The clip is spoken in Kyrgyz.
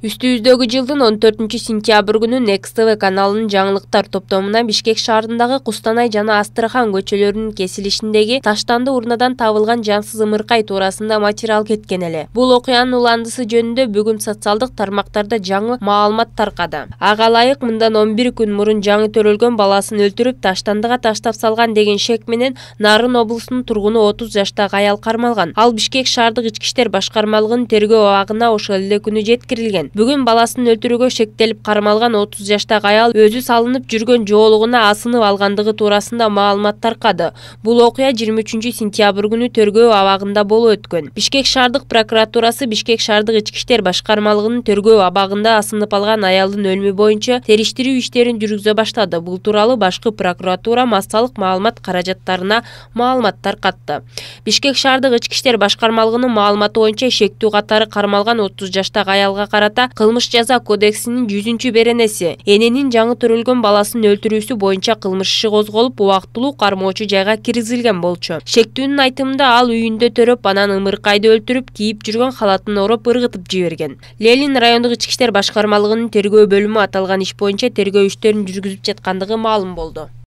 Үстүбүздөгү жылдын 14-сентябрь күнү Next TV каналынын жаңылыктар топтомуна Бишкек шаарындагы Кустанай жана Астрахан көчөлөрүнүн кесилишиндеги таштанды урнадан табылган жансыз ымыркай туурасында материал кеткен эле. Бул окуянын уландысы жөнүндө бүгүн социалдык тармактарда жаңы маалымат таркады. Ага ылайык мындан 11 күн мурун жаңы төрөлгөн баласын өлтүрүп таштандыга таштап салган деген шек менен Нарын облусунун тургуну 30 жаштагы аял кармалган. Ал Бишкек шаардык ички иштер башкармалыгынын тергөө абагына ошол эле күнү жеткирилген. Бүгүн баласын өлтүрүүгө шектелип кармалган 30 жаштагы аял өзү салынып жүргөн жоолугуна асынып алгандыгы туурасында маалымат таркады. Бул окуя 23-сентябрь күнү тергөө абагында болуп өткөн. Бишкек шаардык прокуратурасы Бишкек шаардык ички иштер башкармалыгынын тергөө абагында асынып алган аялдын өлүмү боюнча териштирүү иштерин жүргүзө баштады. Бул тууралуу башкы прокуратура массалык маалымат каражаттарына маалымат таркатты. Бишкек шаардык ички иштер башкармалыгынын маалыматы боюнча эшектүү катары кармалган 30 жаштагы аялга карата кылмыш жаза кодексинин 100-беренеси эненин жаңы төрөлгөн баласын өлтүрүүсү боюнча кылмыш иши козголуп, убактылуу кармоочу жайга киргизилген болчу. Шектүүнүн айтымында ал үйүндө төрөп, анан ымыркайды өлтүрүп, кийип жүргөн халатын ороп, ыргытып жиберген. Ленин райондук ички иштер башкармалыгынын тергөө бөлүмү аталган иш боюнча тергөө иштерин жүргүзүп жаткандыгы маалым болду.